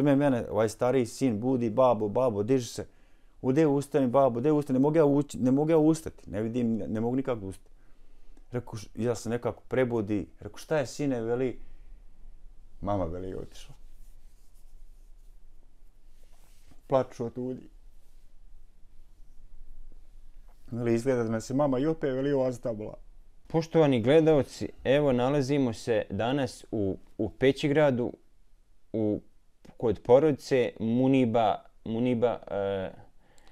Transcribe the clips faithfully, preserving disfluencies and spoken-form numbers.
tome mene, ovaj stariji sin budi, babo, babo, diži se. Ude ustani, babo, ude ustani, ne mogu ja, ući, ne mogu ja ustati, ne vidim, ne, ne mogu nikako ustati. Reku, ja sam nekako prebudi, reku, šta je sine, veli, mama veli je otišla. Plaču od ljudi. Veli, izgleda da me se mama i opet veli ostavila. Poštovani gledaoci, evo nalazimo se danas u, u Pećigradu, u, kod porodice Muniba, Muniba e,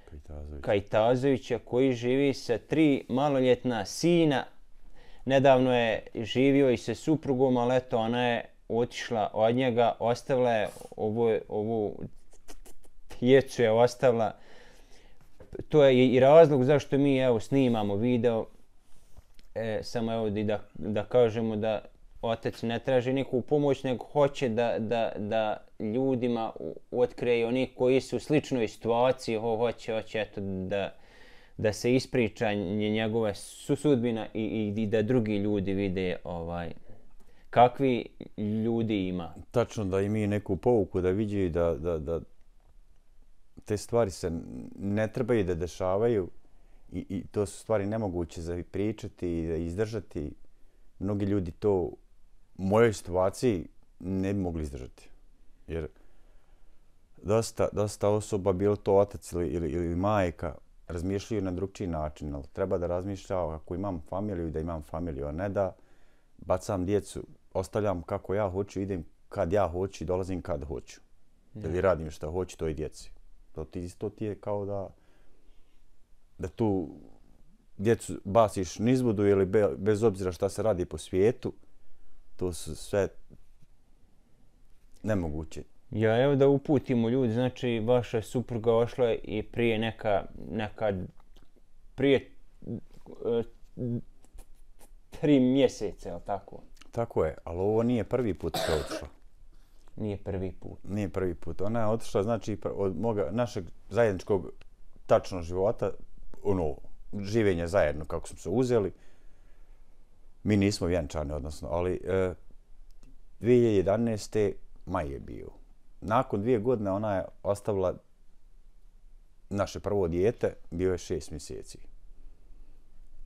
Kajtazović. Kajtazovića, koji živi sa tri maloljetna sina. Nedavno je živio i sa suprugom, ali eto, ona je otišla od njega, ostavila je ovu, ovu djecu je ostavila. To je i razlog zašto mi evo snimamo video. E, samo evo da, da kažemo da otac ne traži neku pomoć, nego hoće da, da, da ljudima otkrije oni koji su u sličnoj situaciji, ho, hoće, hoće eto, da, da se ispriča njegova sudbina i, i, i da drugi ljudi vide ovaj, kakvi ljudi ima. Tačno, da i mi neku pouku da vidi i da, da, da te stvari se ne trebaju da dešavaju i, i to su stvari nemoguće za pričati i da izdržati. Mnogi ljudi to u mojoj situaciji ne bi mogli izdržati. Jer dosta, dosta osoba, bilo to otac ili, ili, ili majka, razmišljaju na drugčiji način, ali treba da razmišljam ako imam familiju, da imam familiju, a ne da bacam djecu, ostavljam kako ja hoću, idem kad ja hoću i dolazim kad hoću. Ja. Ili radim što hoću toj djeci. To ti isto ti je kao da da tu djecu baciš nizbudu ili be, bez obzira šta se radi po svijetu, to su sve nemoguće. Ja, evo da uputimo ljudi, znači vaša supruga ošla je i prije neka, neka prije uh, tri mjeseca, je li tako? Tako je, ali ovo nije prvi put što je otišla. Nije prvi put. Nije prvi put. Ona je otišla, znači, od moga, našeg zajedničkog tačnog života, ono, življenje zajedno kako smo se uzeli. Mi nismo vjenčani, odnosno, ali e, dvije hiljade jedanaeste. maj je bio. Nakon dvije godine ona je ostavila naše prvo dijete, bio je šest mjeseci.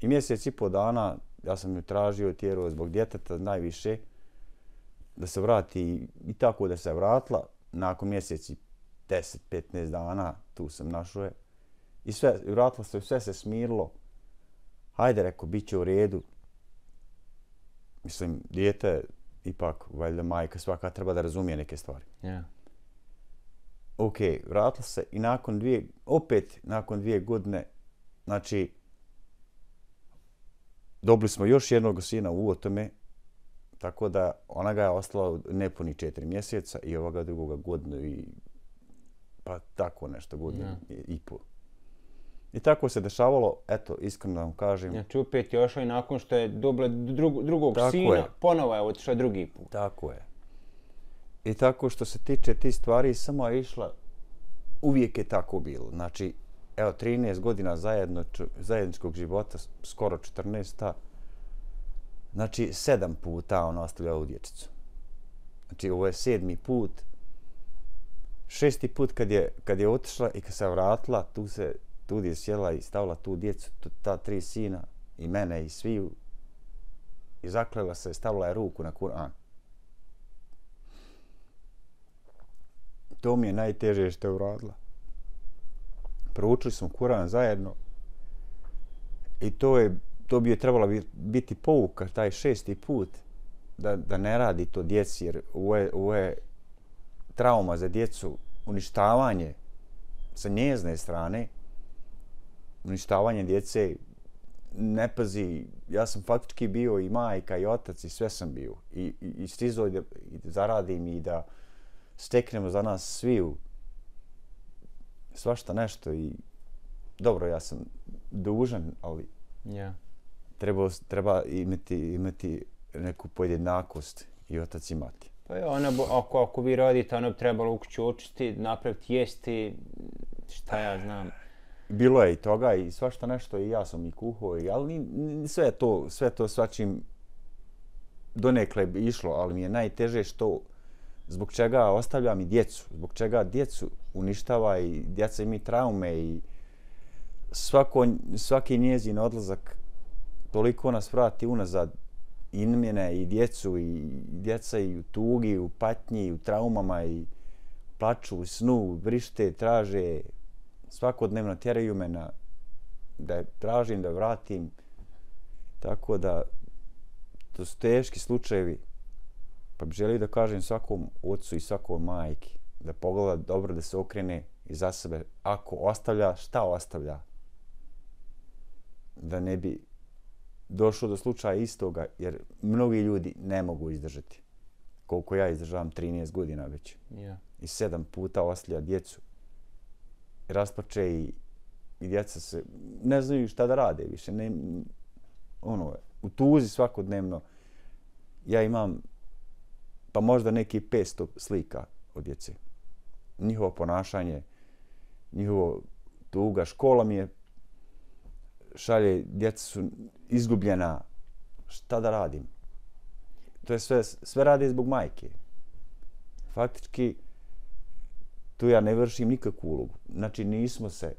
I mjesec i po dana ja sam ju tražio i tjerao zbog djeteta najviše da se vrati i tako da se vratila. Nakon mjeseci deset do petnaest dana tu sam našao je. I sve, vratila se, sve se smirilo. Hajde, rekao, bit će u redu. Mislim, dijete, ipak, valjda majka svaka treba da razumije neke stvari. Yeah. Ok, vratila se i nakon dvije, opet nakon dvije godine, znači, dobili smo još jednog sina u otome, tako da ona ga je ostala nepuni četiri mjeseca i ovoga drugoga godinu i pa tako nešto, godinu yeah. i, i pol. I tako se dešavalo, eto, iskreno da vam kažem. Znači opet je ošla i nakon što je dobila drug, drugog tako sina, je. Ponovo je otišla drugi put. Tako je. I tako što se tiče tih stvari, samo je išla, uvijek je tako bilo. Znači, evo, trinaest godina zajedno, zajedničkog života, skoro četrnaest. Znači, sedam puta ona ostavlja ovu dječicu. Znači, ovo je sedmi put. Šesti put kad je, kad je otišla i kad se vratila, tu se tu je sjela i stavila tu djecu, tu, ta tri sina i mene i sviju i zaklela se, stavila je ruku na Kur'an. To mi je najteže što je uradila. Proučili smo Kur'an zajedno i to je to bi je trebala biti pouka, taj šesti put, da, da ne radi to djeci, jer ovo je, ovo je trauma za djecu, uništavanje sa njezne strane, uništavanje djece, ne pazi, ja sam faktički bio i majka i otac i sve sam bio. I, i, i stizao da, i da zaradim i da steknemo za nas sviju svašta nešto i dobro, ja sam dužan, ali yeah. treba, treba imati, imati neku podjednakost i otac i mati. Pa je, ona, ako, ako vi radite, ona bi trebala u kuću očistiti, napraviti jesti, šta ja znam. Bilo je i toga i svašta nešto i ja sam i kuhao, ali sve to, sve to svačim donekle bi išlo, ali mi je najteže što zbog čega ostavljam i djecu, zbog čega djecu uništava i djeca imaju traume i svako, svaki njezin odlazak toliko nas vrati unazad i mene i djecu i djeca i u tugi, i u patnji, i u traumama i plaču u snu, vrište, traže, svakodnevno tjeraju me na, da je tražim, da vratim. Tako da to su teški slučajevi. Pa bih želio da kažem svakom ocu i svakom majki da pogleda dobro, da se okrene iza sebe. Ako ostavlja, šta ostavlja? Da ne bi došlo do slučaja istoga, jer mnogi ljudi ne mogu izdržati. Koliko ja izdržavam, trinaest godina već. Yeah. I sedam puta ostavlja djecu. Rasplače i, i djeca se ne znaju šta da rade više. Ne, ono, u tuzi svakodnevno. Ja imam pa možda neki petsto slika od djece. Njihovo ponašanje, njihovo tuga, škola mi je šalje, djeca su izgubljena, šta da radim? To je sve, sve radi zbog majke. Faktički, tu ja ne vršim nikakvu ulogu. Znači, nismo se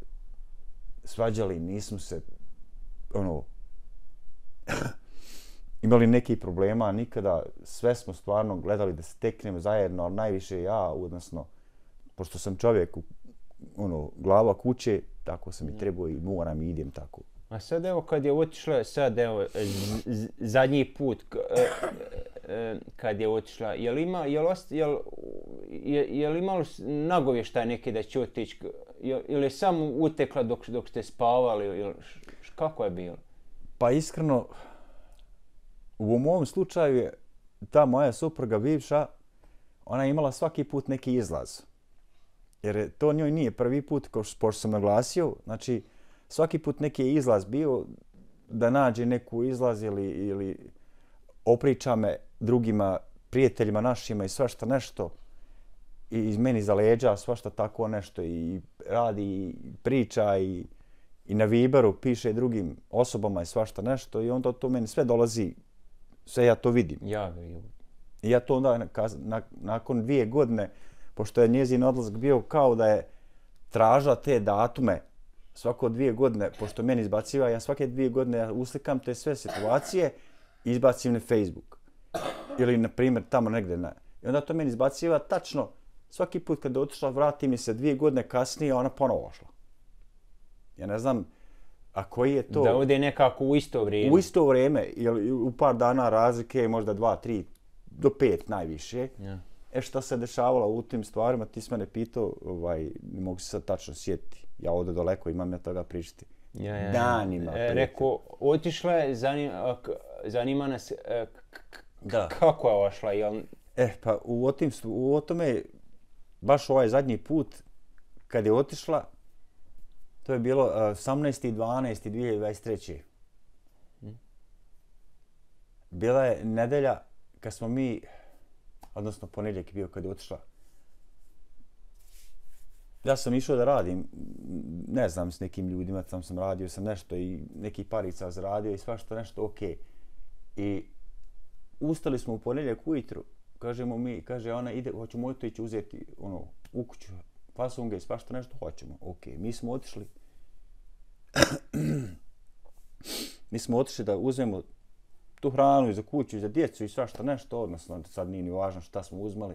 svađali, nismo se, ono, imali nekih problema, nikada, sve smo stvarno gledali da se teknemo zajedno, ali najviše ja, odnosno, pošto sam čovjek, ono, glava kuće, tako sam i trebao i moram i idem tako. A sad evo kad je otišla, sad evo, z, z, zadnji put k, e, e, kad je otišla, je li ima, je li, ost, je li, je, je li imalo nagovještaj neki da će otići, ili je samo utekla dok, dok ste spavali, ili š, kako je bilo? Pa iskreno, u mom slučaju je ta moja supruga bivša, ona je imala svaki put neki izlaz. Jer to njoj nije prvi put, kao što sam naglasio, znači svaki put neki je izlaz bio da nađe neku izlaz ili, ili opriča me drugima, prijateljima našima i svašta nešto i iz meni za leđa svašta tako nešto i radi i priča i, i na Viberu piše drugim osobama i svašta nešto i onda to meni sve dolazi, sve ja to vidim. Ja vidim. I ja to onda na, nakon dvije godine, pošto je njezin odlazak bio kao da je tražila te datume svako dvije godine, pošto meni izbaciva, ja svake dvije godine ja uslikam te sve situacije i izbacim na Facebook. Ili, na primjer, tamo negdje. Na... I onda to meni izbaciva tačno, svaki put kad je otišla, vrati mi se dvije godine kasnije, ona ponovo ošla. Ja ne znam, a koji je to... Da ode nekako u isto vrijeme. U isto vrijeme, ili u par dana razlike, možda dva, tri, do pet najviše. Ja. E šta se dešavalo u tim stvarima, ti si mene pitao, ovaj, ne mogu se sad tačno sjetiti. Ja ovdje daleko imam ja toga pričati. Ja, ja, Danima. E, rekao, otišla je, zanima, zanima nas e, k, da. kako je ošla. Jel... E, pa u, otim, u tome, baš ovaj zadnji put, kad je otišla, to je bilo uh, osamnaesti dvanaesti dvije hiljade dvadeset treće. Hmm. Bila je nedelja kad smo mi, odnosno ponedjeljak je bio kad je otišla. Ja sam išao da radim, ne znam, s nekim ljudima, tam sam radio sam nešto i neki parica zaradio i svašta nešto ok. I ustali smo u ponedjeljak ujutru, kažemo mi, kaže ona ide, hoćemo otići uzeti ono, u kuću, fasunge i svašta nešto, hoćemo, ok. Mi smo otišli, mi smo otišli da uzmemo tu hranu i za kuću i za djecu i svašta nešto, odnosno sad nije ni važno šta smo uzmali.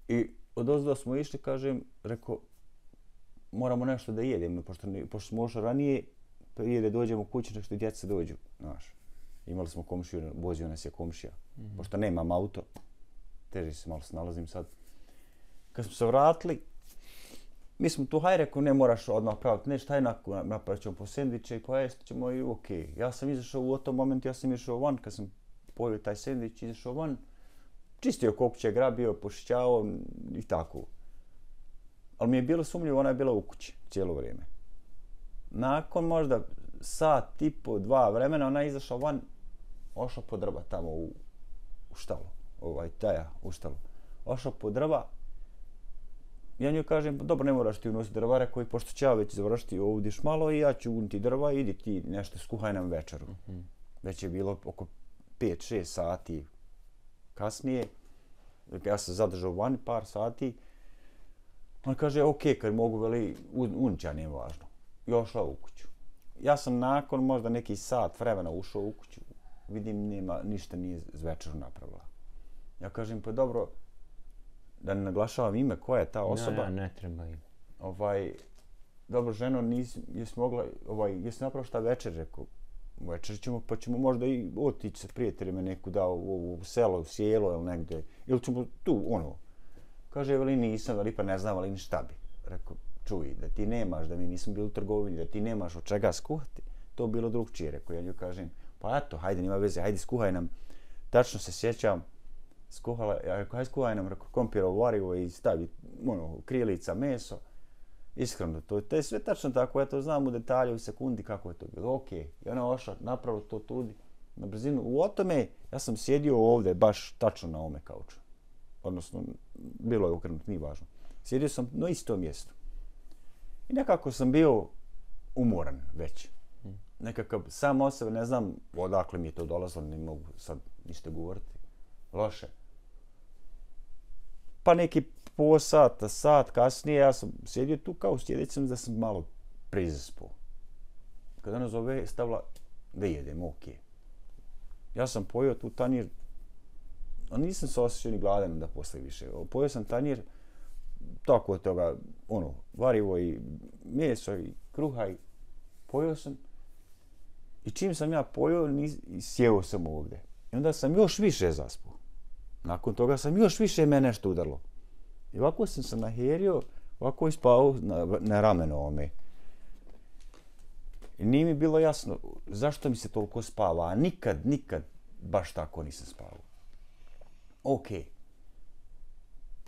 I odozdo smo išli, kažem, rekao, moramo nešto da jedemo, pošto, pošto smo ošli ranije, prije da dođemo u kuću, nešto djeca dođu, znaš. Imali smo komšiju, vozio nas je komšija, mm-hmm. pošto nemam auto, teže se malo snalazim sad. Kad smo se vratili, mi smo tu, haj rekao, ne moraš odmah praviti, nešto, haj napravit ćemo po sendviče i pojesti ćemo i okej. Okay. Ja sam izašao u tom momentu, ja sam išao van, kad sam pojio taj sendvič, izašao van, čistio kokuće, grabio, pošićao i tako. Ali mi je bilo sumnjivo, ona je bila u kući cijelo vrijeme. Nakon možda sat, tipo, dva vremena, ona je izašla van, ošla po drva tamo u, u štalu, ovaj, taja u štalu. Ošla po drva, ja njoj kažem, dobro, ne moraš ti unositi drva, koji pošto će ja već završiti ovdje malo i ja ću uniti drva, idi ti nešto skuhaj nam večeru. Mm-hmm. Već je bilo oko pet šest sati kasnije. Ja sam zadržao vani par sati. On kaže, ok, kad mogu, veli, unića, nije važno. I ošla u kuću. Ja sam nakon možda neki sat vremena ušao u kuću. Vidim, nema, ništa nije z večeru napravila. Ja kažem, pa dobro, da ne naglašavam ime, koja je ta osoba. Ja, ja, ne treba ime. Ovaj, dobro, ženo, nis, jesi mogla, ovaj, jesi napravo šta večer, rekao, večer ćemo, pa ćemo možda i otići sa prijateljima neku da u, u, u selo, u sjelo ili negdje, ili ćemo tu, ono. Kaže, veli nisam, veli pa ne znam, ali ni šta bi. Rekao, čuj, da ti nemaš, da mi nisam bili u trgovini, da ti nemaš od čega skuhati, to bilo drugčije, rekao, ja nju kažem, pa eto, hajde, nima veze, hajde skuhaj nam. Tačno se sjećam, skuhala, ja rekao, hajde skuhaj nam, rekao, kompirovo varivo i stavi, ono, krilica, meso. Iskreno, to, to je sve tačno tako, ja to znam u detalju, u sekundi kako je to bilo. Ok, i ona ošla, napravo to tudi, na brzinu. U o tome, ja sam sjedio ovdje, baš tačno na ome kauču. Odnosno, bilo je okrenut, nije važno. Sjedio sam na istom mjestu. I nekako sam bio umoran već. Nekakav sam o sebe, ne znam odakle mi je to dolazilo, ne mogu sad ništa govoriti. Loše. Pa neki po sata, sat kasnije, ja sam sjedio tu kao sjedit sam da sam malo prizaspao. Kada ona zove, stavila da jedem, ok. Ja sam pojeo tu tanjir, a nisam se osjećao ni gladan da posle više. Pojeo sam tanjir, tako od toga, ono, varivo i meso i kruha i pojeo sam. I čim sam ja pojeo, sjeo sam ovdje. I onda sam još više zaspao. Nakon toga sam još više me nešto udarlo. I ovako sam se naherio, ovako ispao na, na rameno ome. I nije mi bilo jasno zašto mi se toliko spava, a nikad, nikad baš tako nisam spavao. Ok.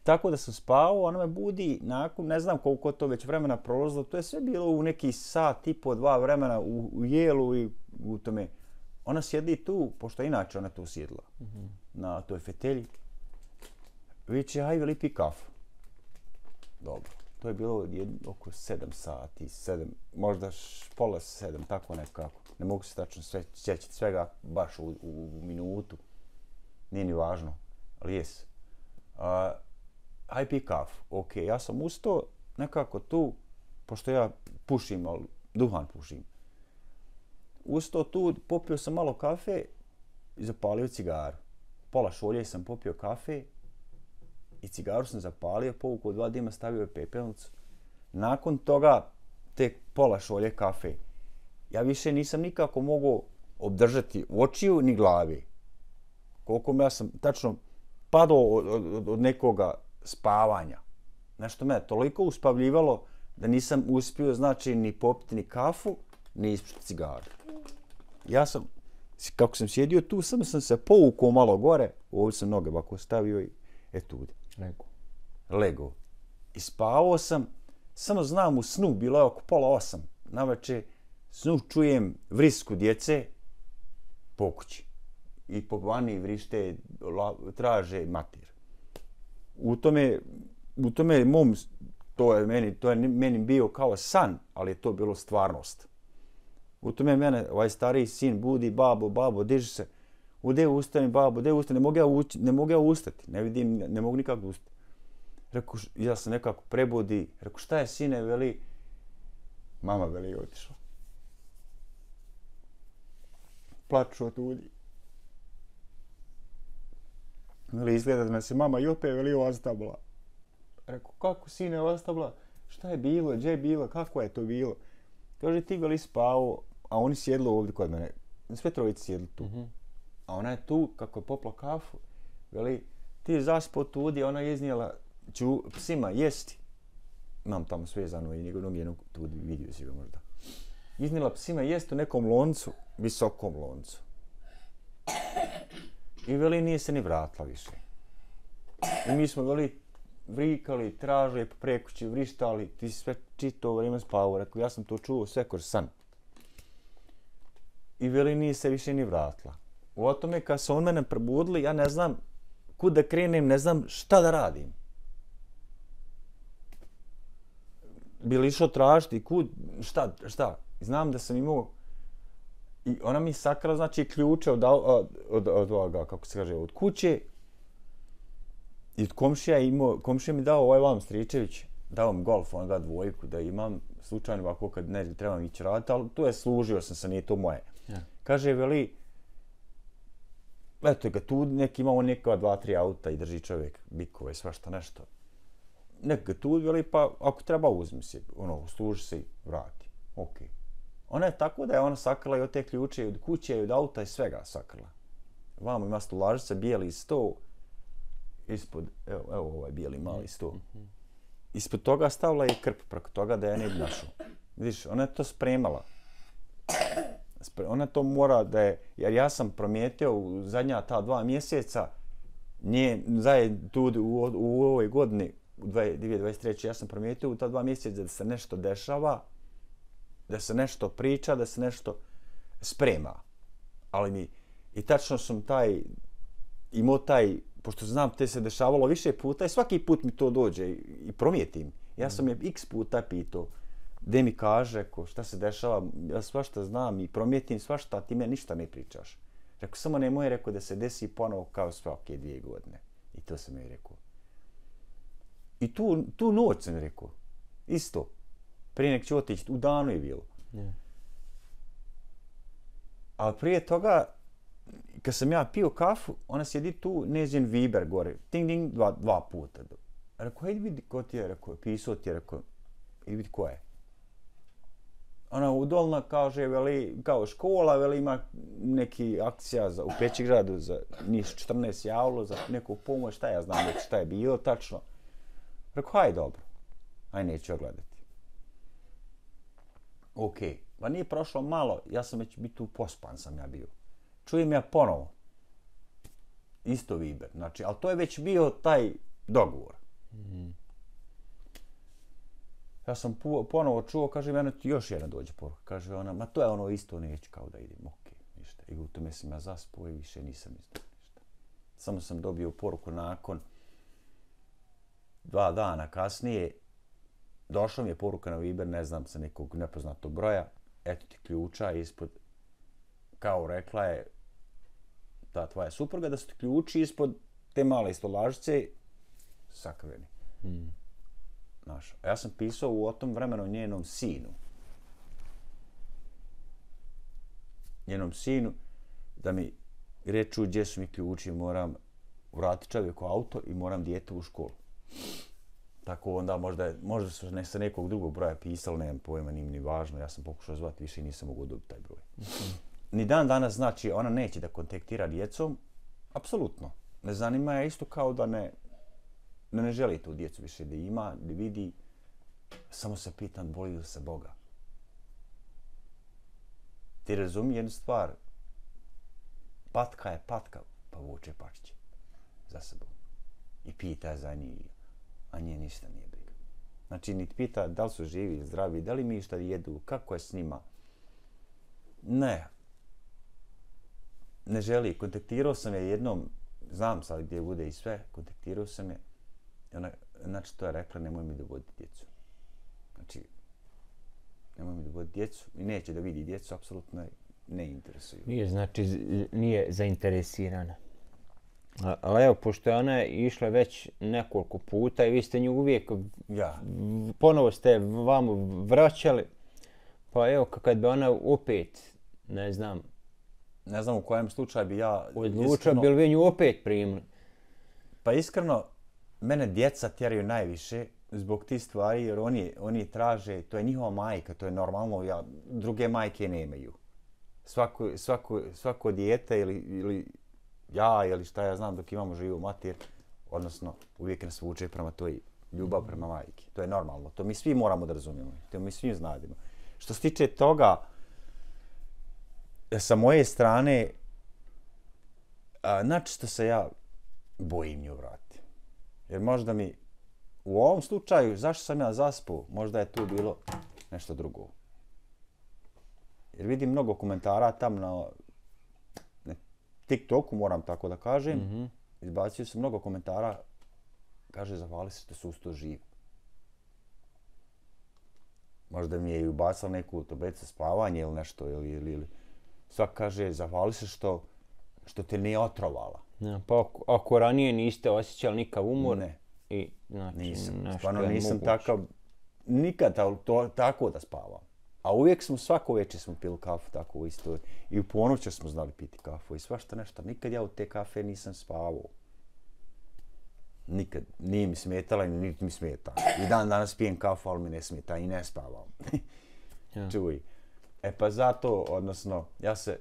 Tako da sam spavao, ona me budi nakon, ne znam koliko to već vremena prolazilo, to je sve bilo u neki sat i po dva vremena u, u jelu i u tome. Ona sjedi tu, pošto inače ona tu sjedla, mm-hmm. na toj fetelji. Viće, hajde lipi kafu. Dobro. To je bilo jedno, oko sedam sati, sedam, možda š, pola sedam, tako nekako. Ne mogu se tačno sve, sjećati svega baš u, u, u minutu. Nije ni važno, ali jes. A, hajde pi kafu. Ok, ja sam ustao nekako tu, pošto ja pušim, ali duhan pušim. Ustao tu, popio sam malo kafe i zapalio cigaru. Pola šolje sam popio kafe i cigaru sam zapalio, povukao dva dima, stavio je pepelnicu. Nakon toga, tek pola šolje kafe. Ja više nisam nikako mogao obdržati očiju ni glavi. Koliko me ja sam tačno padao od, od, od nekoga spavanja. Nešto me toliko uspavljivalo da nisam uspio, znači, ni popiti ni kafu, ni ispušiti cigaru. Ja sam, kako sam sjedio tu, samo sam se povukao malo gore, ovdje sam noge ovako stavio i etude. Lego. Lego. I spavao sam, samo znam u snu, bilo je oko pola osam. Navečer snu čujem vrisku djece po kući. I po vani vrište, traže mater. U tome, u tome mom, to je meni, to je meni bio kao san, ali je to bilo stvarnost. U tome mene, ovaj stariji sin budi, babo, babo, diži se. Ude ustani, babo, ude ustani, ne mogu ja, ući, ne mogu ja ustati, ne vidim, ne, ne mogu nikako ustati. Rekao, ja sam nekako prebudi, rekao, šta je sine, veli, mama veli je otišla. Plaču od ljudi. Veli, izgleda da me se mama i opet veli ostavila. Rekao, kako sine ostavila? Šta je bilo, gdje je bilo, kako je to bilo? Kaže, ti veli spao, a oni sjedli ovdje kod mene. Sve trojice sjedli tu. Mm-hmm. A ona je tu, kako je popla kafu, veli, ti je zaspao tu, a ona je iznijela, ću psima jesti. Imam tamo svezano i njegovnog jednog tu vidio si ga možda. Iznijela psima jesti u nekom loncu, visokom loncu. I veli, nije se ni vratila više. I mi smo veli vrikali, tražili po prekući, vrištali, ti si sve čito vrijeme spavao. Rekao, ja sam to čuo sve kroz san. I veli, nije se više ni vratila. U tome, kad su on mene probudili, ja ne znam kud da krenem, ne znam šta da radim. Bili išao tražiti kud, šta, šta. Znam da sam imao, i ona mi sakrala, znači, ključe od, od, od, od ovoga, kako se kaže, od kuće. I od komšija imao, komšija mi dao ovaj vam Stričević, dao mi golf, on ga dvojku da imam, slučajno ovako kad ne trebam ići raditi, ali tu je služio sam se, nije to moje. Ja. Kaže, veli, eto ga tu, neki imamo neka dva, tri auta i drži čovjek bikove i svašta nešto. Nek ga tu, veli, pa ako treba uzmi se, ono, služi se i vrati. Ok. Ona je tako da je ona sakrila i od te ključe, i od kuće, i od auta i svega sakrila. Vamo ima stolažica, bijeli sto, ispod, evo, evo ovaj bijeli mali sto. Ispod toga stavila i krp preko toga da je ne bi našao. Vidiš, ona je to spremala. Ona to mora da je, jer ja sam promijetio u zadnja ta dva mjeseca, nje, zajedno tu u, u ovoj godini, u dvije tisuće dvadeset treće. ja sam promijetio u ta dva mjeseca da se nešto dešava, da se nešto priča, da se nešto sprema. Ali mi, i tačno sam taj, imao taj, pošto znam te se dešavalo više puta i svaki put mi to dođe i, i promijetim. Ja sam je x puta pitao, gdje mi kaže ko, šta se dešava, ja svašta znam i promijetim svašta, a ti me ništa ne pričaš. Rekao, samo nemoj, rekao, da se desi ponovo kao svake dvije godine. I to sam joj rekao. I tu, tu noć sam rekao, isto. Prije nek ću otići, u danu je bilo. Yeah. Ali prije toga, kad sam ja pio kafu, ona sjedi tu, njezin Viber gore, ting ding, dva, dva puta. Rekao, hajde vidi ko ti je, rekao, pisao ti je, rekao, idi vidi ko je. Ona udolna kaže, veli, kao škola, veli, ima neki akcija za, u Pećigradu za njih četrnaest javilo, za neku pomoć, šta ja znam već šta je bilo tačno. Rekao, haj dobro, aj neću ogledati. Ok, pa nije prošlo malo, ja sam već biti tu pospan sam ja bio. Čujem ja ponovo. Isto Viber, znači, ali to je već bio taj dogovor. Mm. Ja sam ponovo čuo, kaže, mene ti još jedna dođe poruka. Kaže ona, ma to je ono isto, neću kao da idem, ok, ništa. I u tome sam ja zaspao i više nisam izdao ništa. Samo sam dobio poruku nakon dva dana kasnije. Došla mi je poruka na Viber, ne znam, sa nekog nepoznatog broja. Eto ti ključa ispod, kao rekla je ta tvoja supruga, da su ti ključi ispod te male stolažice sakriveni. Hmm. Znaš, ja sam pisao u tom vremenu njenom sinu. Njenom sinu da mi reču gdje su mi ključi, moram vratiti čovjeku auto i moram dijete u školu. Tako onda možda, možda su ne sa nekog drugog broja pisali, nemam pojma, nim ni važno. Ja sam pokušao zvati više i nisam mogu dobiti taj broj. Mm-hmm. Ni dan danas znači ona neće da kontaktira djecom. Apsolutno. Ne zanima je isto kao da ne, da ne želi tu djecu više da ima, da vidi. Samo se pitam, boji li se Boga? Ti razumije jednu stvar. Patka je patka, pa vuče pačiće za sebom. I pita za njih, a nje ništa nije briga. Znači, niti pita da li su živi, zdravi, da li mi šta jedu, kako je s njima. Ne. Ne želi. Kontaktirao sam je jednom, znam sad gdje bude i sve, kontaktirao sam je. Ona, znači, to je rekla, nemoj mi dovoditi djecu. Znači, nemoj mi dovoditi djecu i neće da vidi djecu, apsolutno ne interesuju. Nije, znači, nije zainteresirana. Ali evo, pošto je ona išla već nekoliko puta i vi ste nju uvijek, ja. ponovo ste vam vraćali, pa evo, kad bi ona opet, ne znam, ne znam u kojem slučaju bi ja odlučio, bi li vi nju opet primili? Pa iskreno, mene djeca tjeraju najviše zbog tih stvari, jer oni, oni traže, to je njihova majka, to je normalno, ja, druge majke nemaju. Svako, svako, svako dijete ili, ili ja ili šta ja znam dok imamo živu mater, odnosno uvijek nas vuče prema toj ljubav prema majki. To je normalno, to mi svi moramo da razumijemo, to mi svi znadimo. Što se tiče toga, sa moje strane, načisto se ja bojim nju vrati. Jer možda mi, u ovom slučaju, zašto sam ja zaspao, možda je tu bilo nešto drugo. Jer vidim mnogo komentara tam na TikToku, moram tako da kažem, mm-hmm. izbacio sam mnogo komentara, kaže, zahvali se što su usto živi. Možda mi je i ubacala neku tablicu spavanje ili nešto, ili, ili, ili. Svak kaže, zahvali se što što te nije otrovala. Ja, pa ako, ako ranije niste osjećali nikav umor, ne. I, znači, nisam, nešto stvarno je nisam moguće. takav, nikad to, to, tako da spavam. A uvijek smo, svako večer smo pili kafu tako u isto. I u ponoć smo znali piti kafu i svašta nešto. Nikad ja u te kafe nisam spavao. Nikad. Nije mi smetala i niti mi smeta. I dan danas pijem kafu, ali mi ne smeta i ne spavam. Ja. Čuj. E pa zato, odnosno, ja se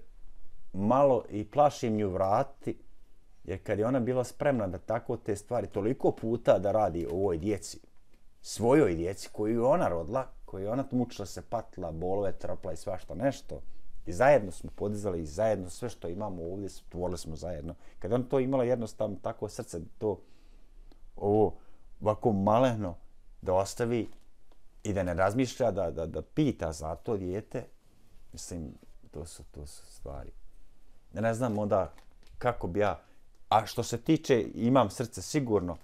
malo i plašim nju vratiti, jer kad je ona bila spremna da tako te stvari toliko puta da radi o ovoj djeci, svojoj djeci koju je ona rodila, koju je ona mučila se, patila, bolove, trpla i svašta nešto, i zajedno smo podizali i zajedno sve što imamo ovdje stvorili smo zajedno. Kad ona to imala jednostavno tako srce, to ovo ovako maleno da ostavi i da ne razmišlja, da, da, da pita za to dijete, mislim, to su, to su stvari. Ja ne znam onda kako bi ja, a što se tiče, imam srce sigurno,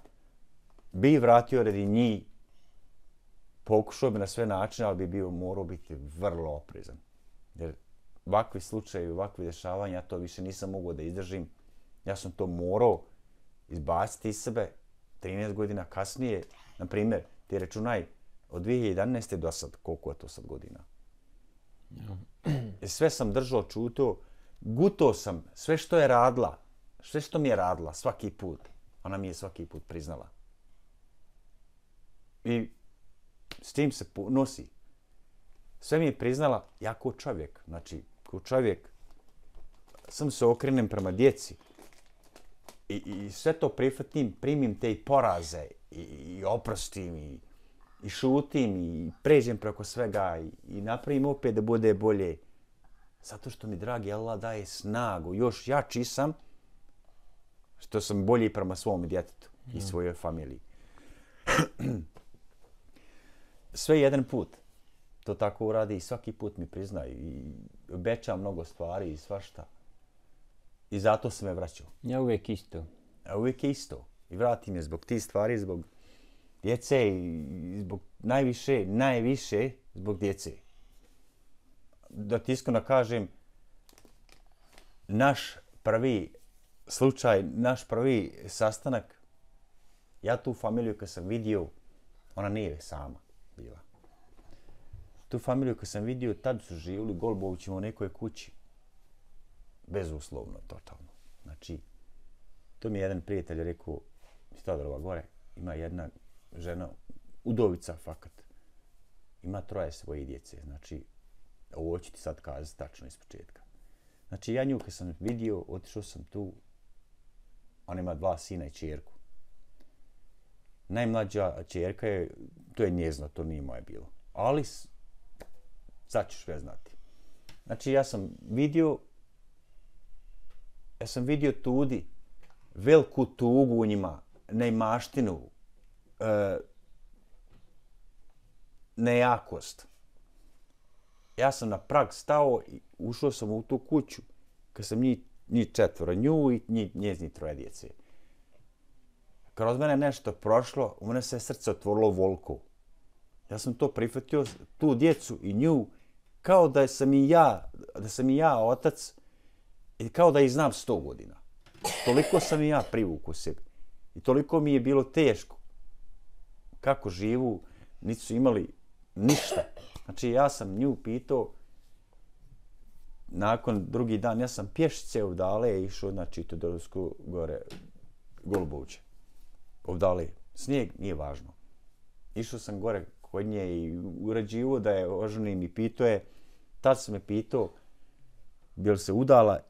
bi vratio radi njih, pokušao bi na sve načine, ali bi bio morao biti vrlo oprezan. Jer ovakvi slučajevi, ovakvi dešavanja, ja to više nisam mogao da izdržim. Ja sam to morao izbaciti iz sebe trinaest godina kasnije. Na primjer, ti računaj od dvije hiljade jedanaeste do sad, koliko je to sad godina. I sve sam držao, čutao, gutao sam sve što je radila, sve što mi je radila svaki put, ona mi je svaki put priznala. I s tim se nosi. Sve mi je priznala, ja kao čovjek, znači, kao čovjek, sam se okrenem prema djeci i, i sve to prihvatim, primim te i poraze i, i oprostim i, i šutim i pređem preko svega i, i napravim opet da bude bolje. Zato što mi, dragi Allah, daje snagu, još jači sam, što sam bolji prema svom djetetu i mm. svojoj familiji. Sve jedan put. To tako uradi i svaki put mi prizna i obeća mnogo stvari i svašta. I zato se me vraćao. Ja uvijek isto. A uvijek isto. I vrati me zbog tih stvari, zbog djece i zbog najviše, najviše zbog djece. Da ti iskreno kažem, naš prvi slučaj, naš prvi sastanak, ja tu familiju kad sam vidio, ona nije sama bila. Tu familiju kad sam vidio, tad su živjeli Golbovićima u nekoj kući. Bezuslovno, totalno. Znači, to mi je jedan prijatelj rekao, iz Todorova gore, ima jedna žena, udovica fakat, ima troje svoje djece. Znači, ovo ću ti sad kazati tačno iz početka. Znači, ja nju kad sam vidio, otišao sam tu, ona ima dva sina i čerku. Najmlađa čerka je, to je njezno, to nije moje bilo. Ali, sad ćeš sve znati. Znači, ja sam vidio, ja sam vidio tudi veliku tugu u njima, neimaštinu, e, nejakost. Ja sam na prag stao i ušao sam u tu kuću kad sam njih, njih četvora, nju i njih, njeznih troje djece. Kroz mene nešto prošlo, u mene se srce otvorilo volko. Ja sam to prihvatio, tu djecu i nju, kao da sam i ja, da sam i ja otac, i kao da ih znam sto godina. Toliko sam i ja privukao sebi. I toliko mi je bilo teško. Kako živu, niti su imali ništa. Znači, ja sam nju pitao, nakon drugi dan, ja sam pješice ovdale išao, znači, Todorovsku gore, Goluboviće. Ovdale, snijeg nije važno. Išao sam gore kod nje i urađivo da je oženim i pitao je, tad sam me pitao, bi li se udala,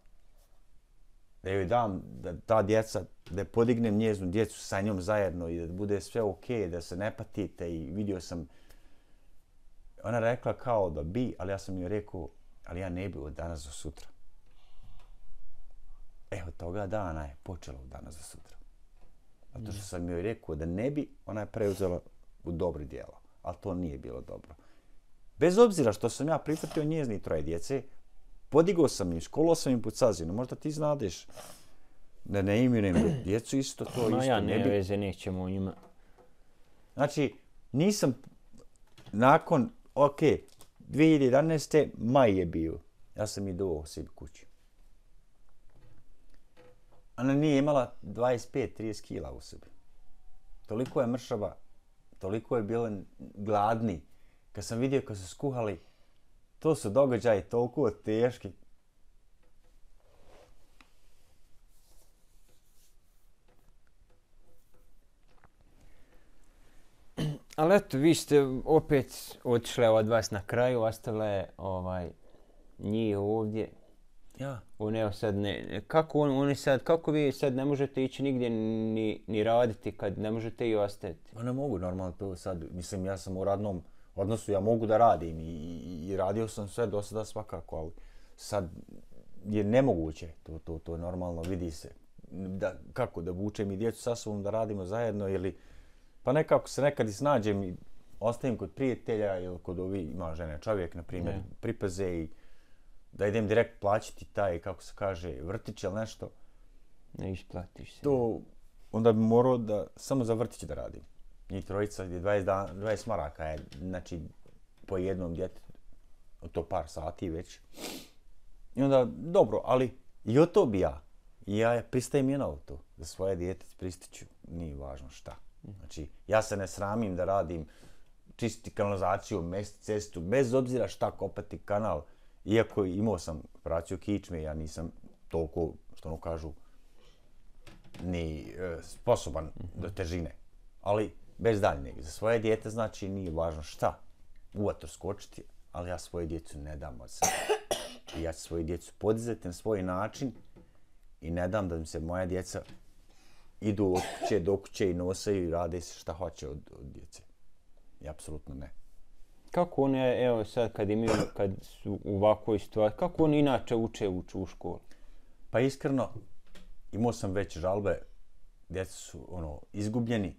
da joj dam, da ta djeca, da podignem njeznu djecu sa njom zajedno i da bude sve okej, okay, da se ne patite i vidio sam. Ona rekla kao da bi, ali ja sam joj rekao, ali ja ne bi od danas do sutra. Evo toga dana je počela od danas do sutra. Zato što sam joj rekao da ne bi, ona je preuzela u dobri djelo, ali to nije bilo dobro. Bez obzira što sam ja prihvatio njeznih troje djece, podigao sam im, školao sam im pod sazinu, možda ti znadeš da ne imenujem djecu isto, to no, isto ja ne bi. ne veze, nećemo o njima. Znači, nisam, nakon, ok, dvije hiljade jedanaeste. maj je bio, ja sam i doveo sebi kući. ona nije imala dvadeset pet do trideset kila u sebi. Toliko je mršava, toliko je bila gladni. Kad sam vidio kad su skuhali, to su događaji toliko teški. Ali eto, vi ste opet otišle od vas na kraju, ostavile ovaj, njih ovdje. Ja. On evo sad ne, kako on, oni sad, kako vi sad ne možete ići nigdje ni, ni raditi kad ne možete i ostati? Pa ne mogu normalno to sad, mislim ja sam u radnom odnosu, ja mogu da radim i, i, i radio sam sve do sada svakako, ali sad je nemoguće, to, to, to normalno vidi se. Da, kako, da vučem i djecu sa sobom da radimo zajedno ili pa nekako se nekad i snađem i ostavim kod prijatelja ili kod ovi, ima žene čovjek, na primjer, ne. Pripeze i da idem direkt plaćati taj, kako se kaže, vrtić ili nešto. Ne isplatiš se. To onda bi morao da samo za vrtić da radim. Njih trojica je dvadeset, dan, dvadeset maraka, je, znači po jednom djetetu, to par sati već. I onda, dobro, ali i o to bi ja. I ja pristajem je na to, za svoje dijete pristiću, nije važno šta. Znači, ja se ne sramim da radim čistiti kanalizaciju, mesti cestu, bez obzira šta kopati kanal. Iako imao sam operaciju kičme, ja nisam toliko, što ono kažu, ni e, sposoban mm-hmm. do težine. Ali bez daljnjeg. Za svoje dijete znači nije važno šta. Uvato skočiti, ali ja svoje djecu ne dam od sebe. I ja ću svoju djecu podizati na svoj način i ne dam da mi se moja djeca idu od kuće do kuće i nosaju i rade se šta hoće od, od djece. I apsolutno ne. Kako oni, evo sad kad imaju, kad su u ovakvoj situaciji, kako oni inače uče uču u školi? Pa iskreno, imao sam već žalbe, djeca su ono, izgubljeni,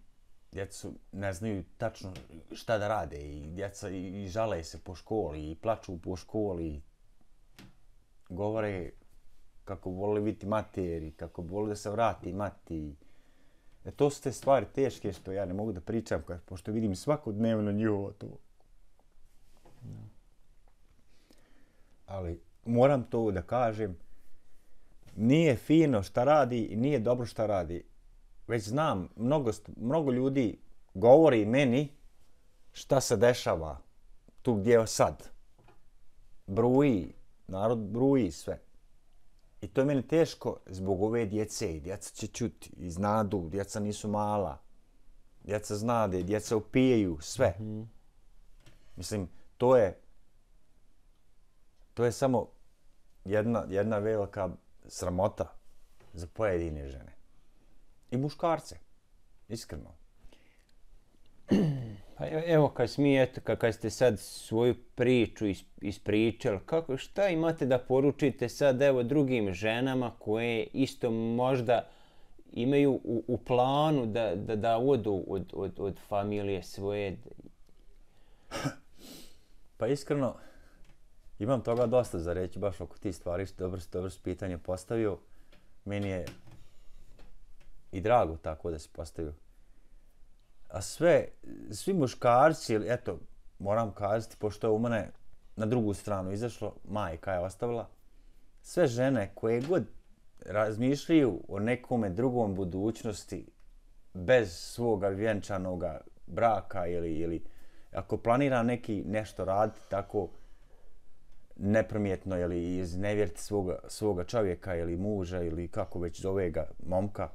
djeca su, ne znaju tačno šta da rade i djeca i, i žale se po školi i plaču po školi. Govore kako vole biti materi, kako vole da se vrati mati. E, to su te stvari teške što ja ne mogu da pričam, pošto vidim svakodnevno njihovo to. No. Ali moram to da kažem, nije fino šta radi i nije dobro šta radi. Već znam, mnogo, mnogo ljudi govori meni šta se dešava tu gdje je sad. Bruji, narod bruji sve. I to je meni teško zbog ove djece. Djeca će čuti i znadu, djeca nisu mala. Djeca znade, djeca upijaju, sve. Mm-hmm. Mislim, to je to je samo jedna, jedna velika sramota za pojedine žene. I muškarce, iskreno. Pa evo, kad smijete, kad ste sad svoju priču ispričali, kako, šta imate da poručite sad evo drugim ženama koje isto možda imaju u, u planu da, da, da odu od, od, od familije svoje? Pa iskreno, imam toga dosta za reći baš oko tih stvari, što dobro, dobro si pitanje postavio. Meni je i drago tako da si postavio. A sve, svi muškarci, eto, moram kazati, pošto je u mene na drugu stranu izašlo, majka je ostavila, sve žene koje god razmišljaju o nekome drugom budućnosti bez svoga vjenčanog braka ili, ili ako planira neki nešto raditi tako nepromjetno ili iznevjeriti svoga, svoga čovjeka ili muža ili kako već zove ga momka,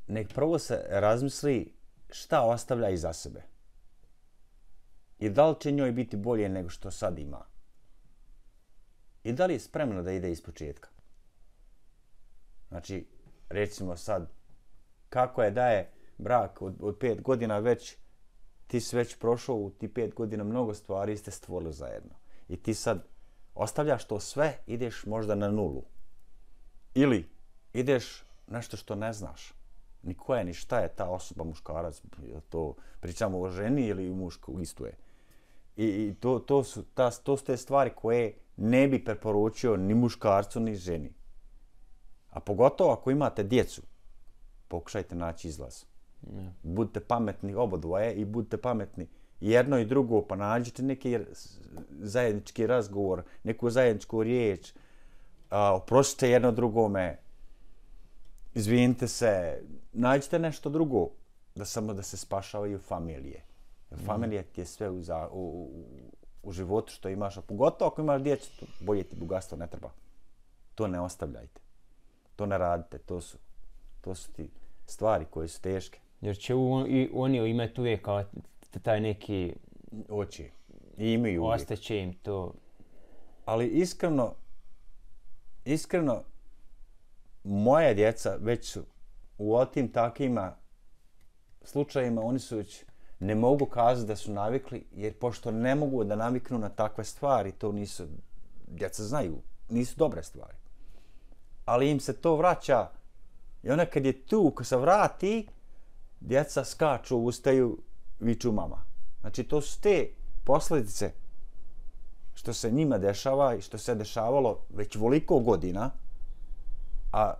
nek prvo se razmisli šta ostavlja iza sebe. I da li će njoj biti bolje nego što sad ima. I da li je spremna da ide ispočetka. Znači, recimo sad, kako je da je brak od, od pet godina već, ti si već prošao u ti pet godina mnogo stvari i ste stvorili zajedno. I ti sad ostavljaš to sve, ideš možda na nulu. Ili ideš nešto što ne znaš. Ni ko je, ni šta je ta osoba muškarac, to pričamo o ženi ili mušku, isto je. I, i to, to, su, ta, to su te stvari koje ne bi preporučio ni muškarcu, ni ženi. A pogotovo ako imate djecu, pokušajte naći izlaz. Ne. Budite pametni obodvoje i budite pametni jedno i drugo, pa nađite neki zajednički razgovor, neku zajedničku riječ, a, oprostite jedno drugome, izvinite se, nađite nešto drugo, da samo da se spašavaju familije. Jer familija ti je sve u, za, u, u, u životu što imaš, a pogotovo ako imaš djecu, bolje ti bogatstvo ne treba. To ne ostavljajte. To ne radite. To su, to su ti stvari koje su teške. Jer će u, i oni imati uvijek kao taj neki... Oči. I imaju uvijek. Ostaće im to. Ali iskreno, iskreno, moja djeca već su u otim takvima slučajima, oni su već, ne mogu kazati da su navikli, jer pošto ne mogu da naviknu na takve stvari, to nisu, djeca znaju, nisu dobre stvari. Ali im se to vraća i ona kad je tu, kad se vrati, djeca skaču, ustaju, viču mama. Znači to su te posljedice što se njima dešava i što se dešavalo već voliko godina, a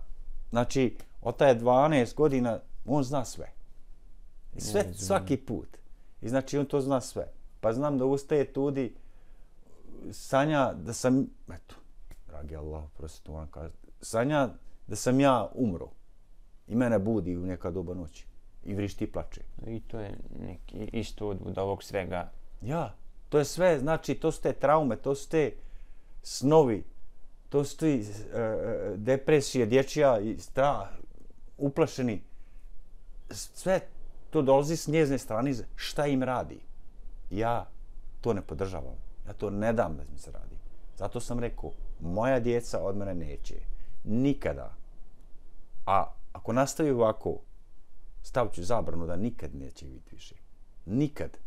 znači od taj dvanaest godina on zna sve. I sve ne, svaki put. I znači on to zna sve. Pa znam da ustaje tudi sanja da sam, eto, dragi Allah, prosto to moram kazati, sanja da sam ja umro. I mene budi u neka doba noći. I vrišti i plače. I to je neki isto od, od ovog svega. Ja, to je sve, znači to su te traume, to su te snovi, to su te uh, depresije, dječja i strah, uplašeni. Sve to dolazi s njezine strane, šta im radi. Ja to ne podržavam. Ja to ne dam da mi se radi. Zato sam rekao, moja djeca od mene neće. Nikada. A ako nastavi ovako, stavit ću zabranu da nikad neće biti više. Nikad.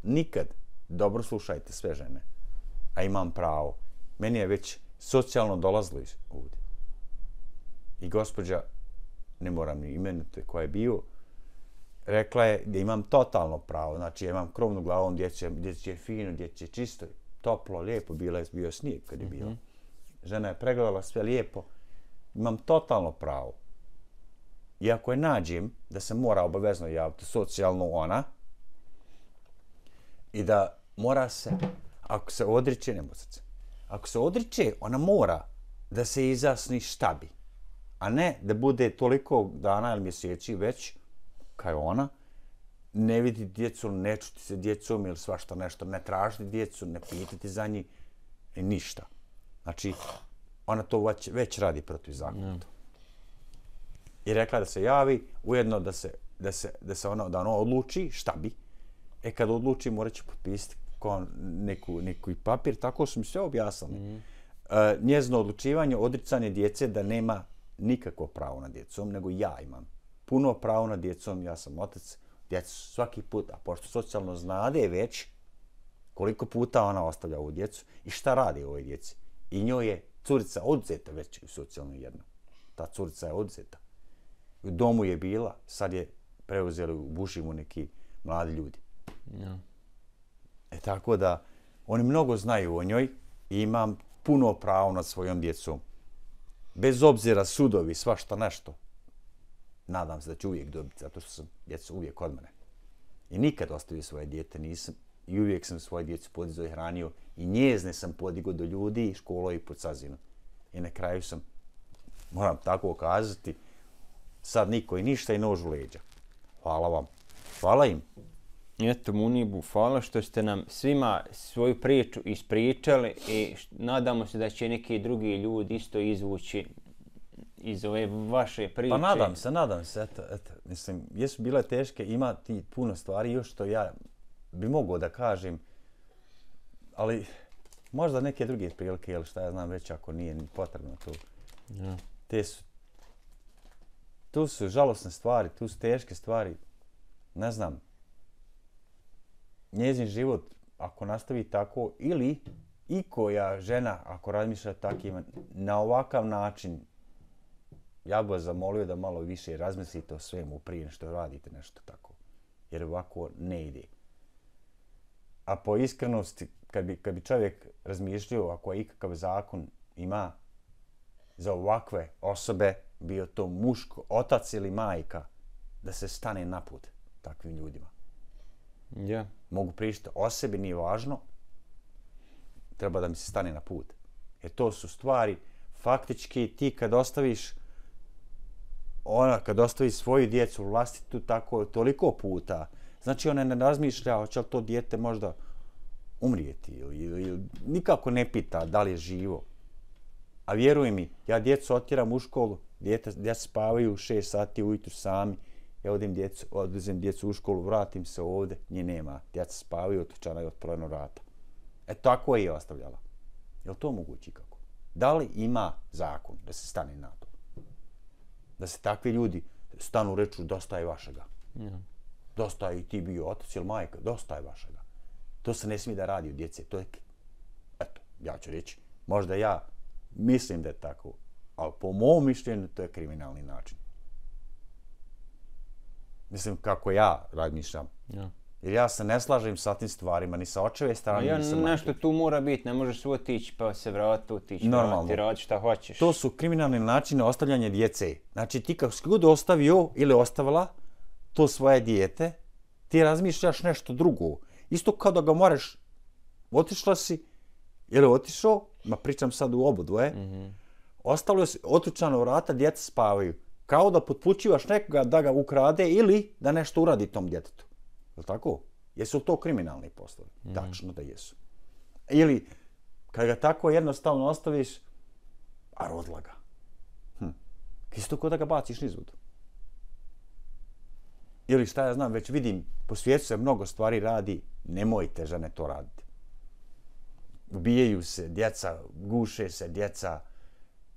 Nikad. Dobro slušajte sve žene. A imam pravo. Meni je već socijalno dolazilo ovdje. I gospođa, ne moram ni imenuti koja je bio, rekla je da imam totalno pravo. Znači, ja imam krovnu glavom, djece, djece je fino, djece je čisto, toplo, lijepo, bila je, bio snijeg kad je bilo. Mm-hmm. Žena je pregledala sve lijepo. Imam totalno pravo. I ako je nađem da se mora obavezno javiti socijalno ona i da mora se, ako se odriče, ne može se, ako se odriče, ona mora da se izjasni šta bi, a ne da bude toliko dana ili mjeseci već, kao ona, ne vidi djecu, ne čuti se djecom ili svašta nešto, ne tražiti djecu, ne pitati za njih, i ništa. Znači, ona to već, već radi protiv zakona. Mm. I rekla da se javi, ujedno da se, da se, da se ona, da ona odluči šta bi. E kad odluči, morat će potpisati neku, neku papir, tako su mi sve objasnili. Mm. E, njezino odlučivanje, odricanje djece da nema nikakvo pravo na djecom, nego ja imam puno pravo na djecom, ja sam otac, djeca svaki put, a pošto socijalno znade već koliko puta ona ostavlja ovu djecu i šta radi ovoj djeci. I njoj je curica odzeta već u socijalno jedno. Ta curica je odzeta. U domu je bila, sad je preuzeli u Bušimu neki mladi ljudi. Ja. E tako da, oni mnogo znaju o njoj i imam puno pravo nad svojom djecom. Bez obzira sudovi, svašta nešto. Nadam se da ću uvijek dobiti, zato što sam djecu uvijek od mene. I nikad ostavio svoje dijete nisam. I uvijek sam svoje djecu podizao i hranio. I njezne sam podigao do ljudi i školo i pod sazinu. I na kraju sam, moram tako kazati, sad niko i ništa i nož u leđa. Hvala vam. Hvala im. Eto, Munibu, hvala što ste nam svima svoju priču ispričali i nadamo se da će neki drugi ljudi isto izvući iz ove vaše priče. Pa nadam se, nadam se. Eto, eto. Mislim, jesu bile teške, ima ti puno stvari još što ja bi mogao da kažem, ali možda neke druge prilike, ili šta ja znam već ako nije ni potrebno to. Ja. Te su, tu su žalosne stvari, tu su teške stvari, ne znam. Njezin život, ako nastavi tako, ili i koja žena, ako razmišlja takvim, na ovakav način, ja bih vas zamolio da malo više razmislite o svemu prije što radite nešto tako. Jer ovako ne ide. A po iskrenosti, kad bi, kad bi čovjek razmišljao, ako je ikakav zakon ima za ovakve osobe, bio to muško, otac ili majka, da se stane na put takvim ljudima. Ja. Mogu pričati o sebi, nije važno. Treba da mi se stane na put. Jer to su stvari, faktički ti kad ostaviš ona kad ostavi svoju djecu vlastitu tako toliko puta, znači ona ne razmišlja hoće li to dijete možda umrijeti ili, ili, ili nikako ne pita da li je živo. A vjeruj mi, ja djecu otjeram u školu, djete, djeca spavaju šest sati ujutru sami, ja odem djecu, odvezem djecu u školu, vratim se ovdje, nje nema, djeca spavaju, otključana je otvoreno vrata. E tako je i ostavljala. Je li to moguće kako? Da li ima zakon da se stane na to? Da se takvi ljudi stanu reču dosta je vašega. Ja. Dosta je i ti bio otac ili majka, dosta je vašega. To se ne smije da radi od djece. To je, eto, ja ću reći, možda ja mislim da je tako, ali po mom mišljenju to je kriminalni način. Mislim kako ja razmišljam. Ja. Jer ja se ne slažem sa tim stvarima, ni sa očeve strane, ja, ni sa nešto majke. tu mora biti, ne možeš otići pa se vratiti, otići, vratiti, raditi šta hoćeš. To su kriminalni načine ostavljanja djece. Znači ti kako si god ostavio ili ostavila to svoje dijete, ti razmišljaš nešto drugo. Isto kao da ga moraš, otišla si ili otišao, ma pričam sad u obodvoje, mm-hmm. ostavljaju si otključana vrata, djeca spavaju. Kao da potpućivaš nekoga da ga ukrade ili da nešto uradi tom djetetu. Je li tako? Jesu li to kriminalni poslovi? Mm. Tačno da jesu. Ili, kad ga tako jednostavno ostaviš, a rodila ga. Hm. Isto kao da ga baciš nizud. Ili šta ja znam, već vidim, po svijetu se mnogo stvari radi, nemojte žene to raditi. Ubijaju se djeca, guše se djeca,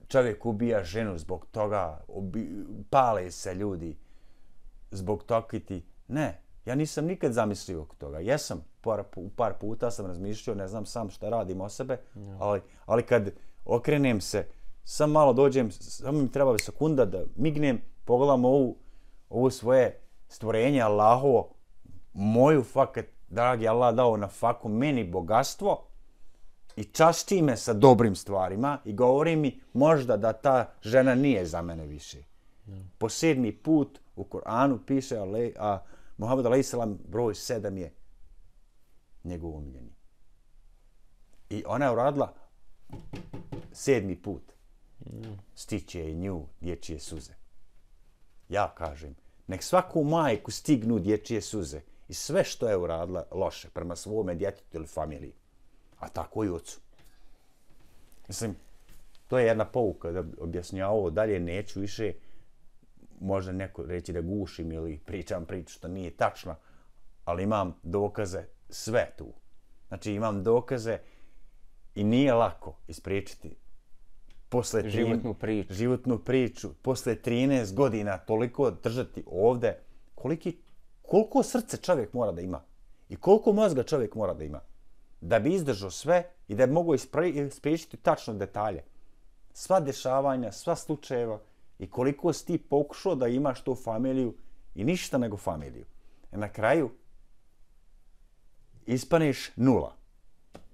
čovjek ubija ženu zbog toga, ubi, pale se ljudi zbog toga ti. Ne, ja nisam nikad zamislio oko toga. Jesam, par, par puta sam razmišljao, ne znam sam šta radim o sebe, no. ali, ali kad okrenem se, sam malo dođem, samo mi treba sekunda da mignem, pogledam ovu, ovu svoje stvorenje Allahovo, moju fakat, dragi Allah dao na faku meni bogatstvo, i časti me sa dobrim stvarima i govori mi možda da ta žena nije za mene više. No. Po sedmi put u Koranu piše ale, a Muhammed alejhi selam broj sedam je njegov omiljeni. I ona je uradila sedmi put. No. Stiće i nju dječje suze. Ja kažem, nek svaku majku stignu dječje suze i sve što je uradila loše prema svome djetetu ili familiji. A tako i ocu. Mislim, to je jedna pouka da objasnja ovo, dalje neću više, možda neko reći da gušim ili pričam priču što nije tačno, ali imam dokaze sve tu. Znači imam dokaze i nije lako ispričati posle trin, životnu priču. životnu priču, posle trinaest godina toliko držati ovde, koliki, koliko srce čovjek mora da ima i koliko mozga čovjek mora da ima. Da bi izdržao sve i da bi mogo ispriječiti tačno detalje. Sva dešavanja, sva slučajeva i koliko si ti pokušao da imaš tu familiju i ništa nego familiju. I na kraju ispaneš nula.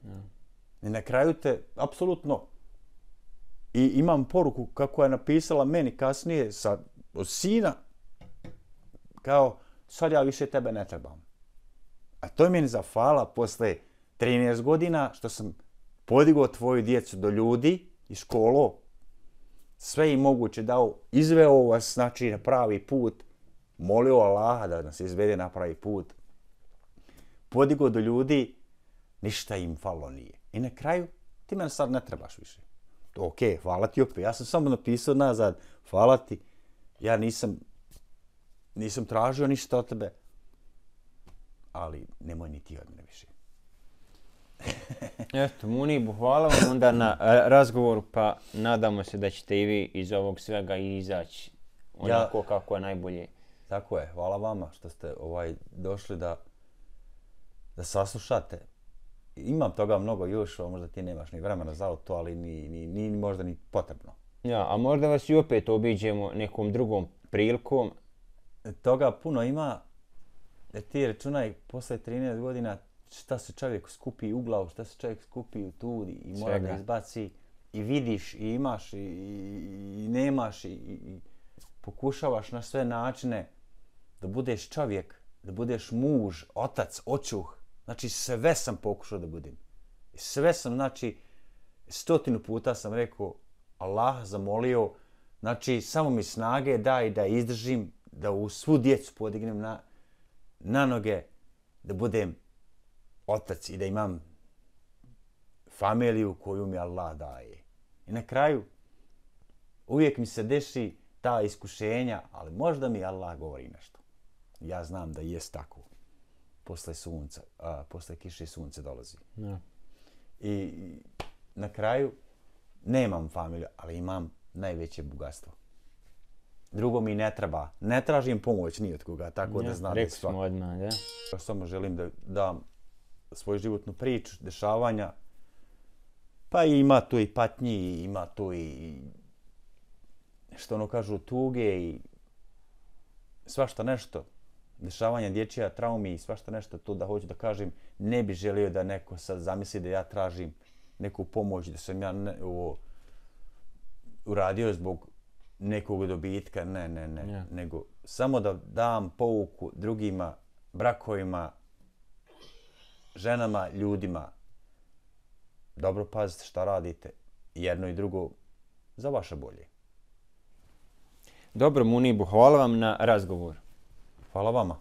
Mm. I na kraju te, apsolutno, i imam poruku kako je napisala meni kasnije sa, od sina, kao, sad ja više tebe ne trebam. A to je meni zafala posle trinaest godina što sam podigao tvoju djecu do ljudi i školo, sve im moguće dao, izveo vas znači na pravi put, molio Allaha da nas izvede na pravi put, podigao do ljudi, ništa im falo nije. I na kraju, ti mene sad ne trebaš više. Ok, hvala ti opet. Ja sam samo napisao nazad, hvala ti. Ja nisam, nisam tražio ništa od tebe, ali nemoj ni ti od mene više. Eto, Munibu, hvala vam onda na razgovoru, pa nadamo se da ćete i vi iz ovog svega izaći onako ja, kako je najbolje. Tako je, hvala vama što ste ovaj došli da, da saslušate. Imam toga mnogo još, možda ti nemaš ni vremena za to, ali ni, ni, ni možda ni potrebno. Ja, a možda vas i opet obiđemo nekom drugom prilikom. Toga puno ima, jer ti računaj posle trinaest godina šta se čovjek skupi u glavu, šta se čovjek skupi u tudi i mora Svega. da izbaci i vidiš i imaš i, i, i nemaš i, i pokušavaš na sve načine da budeš čovjek, da budeš muž, otac, očuh. Znači sve sam pokušao da budem. Sve sam, znači, stotinu puta sam rekao, Allah zamolio Znači, samo mi snage daj da izdržim, da u svu djecu podignem na, na noge, da budem otac i da imam familiju koju mi Allah daje. I na kraju, uvijek mi se deši ta iskušenja, ali možda mi Allah govori nešto. Ja znam da jest tako. Posle sunca, a, posle kiše sunce dolazi. Ja. I na kraju, nemam familiju, ali imam najveće bogatstvo. Drugo mi ne treba. Ne tražim pomoć ni od koga, tako ja, da znam rekli da svak... smo odmah, da. Ja samo želim da dam svoju životnu priču, dešavanja. Pa ima tu i patnji, ima tu i što ono kažu tuge i svašta nešto. Dešavanja dječja traumi i svašta nešto to da hoću da kažem. Ne bi želio da neko sad zamisli da ja tražim neku pomoć, da sam ja ne, ovo, uradio zbog nekog dobitka, ne, ne, ne, yeah. nego samo da dam pouku drugima, brakovima, ženama, ljudima. Dobro pazite šta radite, jedno i drugo za vaše bolje. Dobro, Munibu, hvala vam na razgovor. Hvala vama.